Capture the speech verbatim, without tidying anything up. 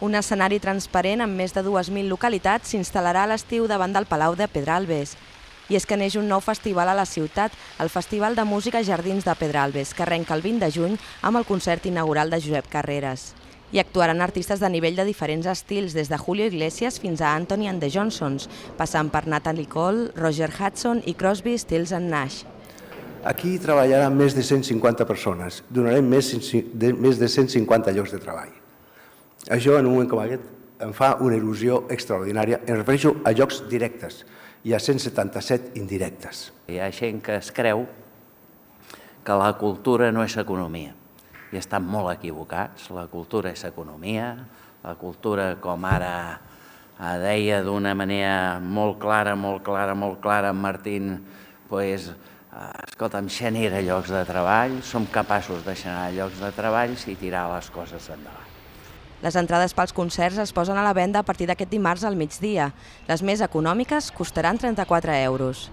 Un escenari transparent amb més de dues mil localitats s'instal·larà a l'estiu davant del Palau de Pedralbes. I és que neix un nou festival a la ciutat, el Festival de Música Jardins de Pedralbes, que arrenca el vint de juny amb el concert inaugural de Josep Carreras. Hi actuaran artistes de nivell de diferents estils, des de Julio Iglesias fins a Anthony and the Johnsons, passant per Natalie Cole, Roger Hudson i Crosby, Stills and Nash. Aquí treballaran més de cent cinquanta persones, donarem més de cent cinquanta llocs de treball. Això, en un moment com aquest, em fa una il·lusió extraordinària. Em refereixo a llocs directes i a cent setanta-set indirectes. Hi ha gent que es creu que la cultura no és economia. I estan molt equivocats. La cultura és economia. La cultura, com ara deia d'una manera molt clara, molt clara, molt clara en Martín, doncs, escolta'm, genera llocs de treball, som capaços de generar llocs de treball i tirar les coses endavant. Les entrades pels concerts es posen a la venda a partir d'aquest dimarts al migdia. Les més econòmiques costaran trenta-quatre euros.